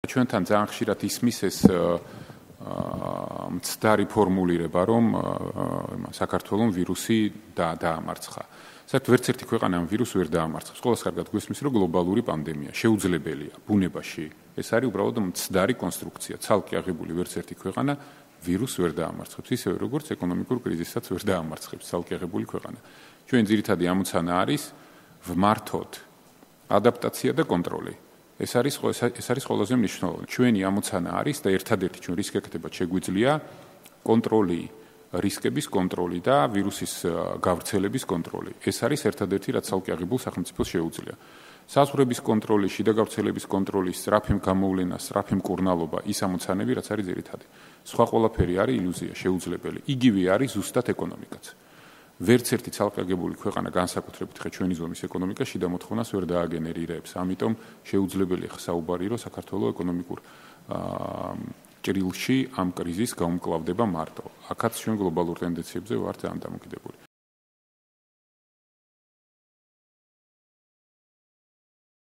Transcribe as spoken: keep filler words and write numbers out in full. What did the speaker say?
ჩვენთან ძალიან ხშირად ისმის ეს მცდარი ფორმულირება, რომ საქართველოს ვირუსი დაამარცხა. საერთოდ ვერც ერთი ქვეყანა ამ ვირუსს ვერ დაამარცხებს. ყველას კარგად გვესმის, რომ გლობალური პანდემია შეუძლებელია ბუნებაში. ეს არის უბრალოდ მცდარი კონსტრუქცია, ცალკე აღებული ვერც ერთი ქვეყანა ვირუსს ვერ დაამარცხებს, ისევე როგორც ეკონომიკურ კრიზისაც ვერ დაამარცხებს ცალკე აღებული ქვეყანა. ჩვენ ძირითადი ამოცანა არის ვმართოთ ადაპტაცია და კონტროლი. ეს არის ეს არის ყველაზე მნიშვნელოვანი. ჩვენი ამოცანა არის და ერთადერთი ჩვენ რისკ-ეკეთებად შეგვიძლია კონტროლი, რისკების კონტროლი და ვირუსის გავრცელების კონტროლი. ეს არის ერთადერთი, რაც ცალკე აღებულ სახელმწიფოს შეუძლია. საზღვრების კონტროლი, შიდა გავრცელების კონტროლი, სწრაფი გამოვლენა, სწრაფი მკურნალობა, ის ამოცანები, რაც არის ძირითადი. სხვა ყველაფერი არის ილუზია, შეუძლებელი. იგივე არის ზუსტად ეკონომიკაც. ვერც ერთი ცალკე აღებული ქვეყანა განსაკუთრებით ხე ჩვენი ზომის ეკონომიკა შიდა მოთხოვნას ვერ დააგენერირებს. ამიტომ შეუძლებელია საუბარი, რომ საქართველოს ეკონომიკურ ჭრილში ამ კრიზისს გაუმკლავდება მარტო. აქაც ჩვენ გლობალურ ტენდენციებზე ვართ ძალიან დამოკიდებული.